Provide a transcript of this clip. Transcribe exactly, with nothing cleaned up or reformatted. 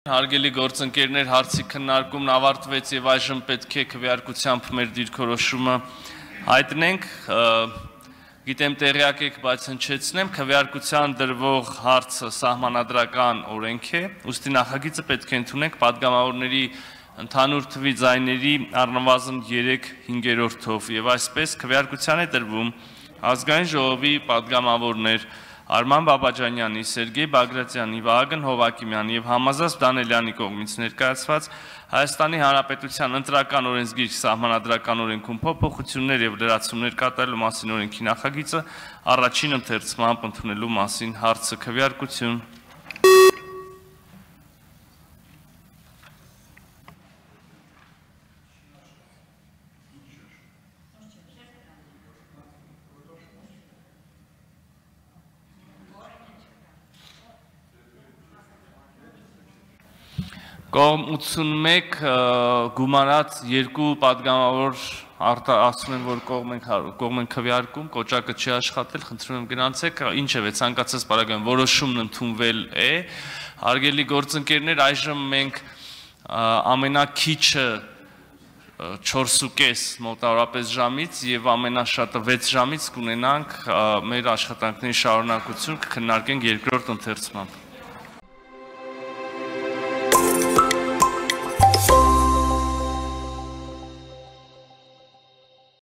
Հարգելի գործընկերներ, հարցի քննարկումն ավարտվեց եւ այժմ պետք է քվեարկությամբ մեր դիրքորոշումը հայտնենք։ Գիտեմ տեղյակ եք, բայց հնչեցնեմ, քվեարկության դրվող հարցը սահմանադրական օրենք է, ուստի նախագիծը պետք է ընդունենք падգամավորների ընդհանուր թվի ձայների առնվազն երեք հինգերորդով եւ այսպես քվեարկության է դրվում ազգային ժողովի падգամավորներ Արման Բաբաջանյանի, Սերգեյ Բագրատյանի, Վահագն Հովակիմյանի եւ Համազած Դանելյանի կողմից ներկայացված Հայաստանի Հանրապետության ընտրական օրենսգիր սահմանադրական օրենքում փոփոխություններ եւ լրացումներ կատարելու մասին օրենքի նախագիծը առաջին ընթերցմամբ ընդունելու մասին հարցը քվեարկություն Կողմ ութսունմեկ գումարած երկու падգամավոր ասում են, որ կողմ են քվեարկում, կոճակը չի աշխատել, խնդրում եմ գնացեք, ինչևէ ցանկացած պարագայում որոշումն ընդունվել է, հարգելի գործընկերներ, այժմ մենք ամենաքիչը չորսուկես մոտավորապես ժամից եւ ամենաշատը վեց ժամից կունենանք մեր աշխատանքների շարունակություն, կքննարկենք երկրորդ ընթերցմամբ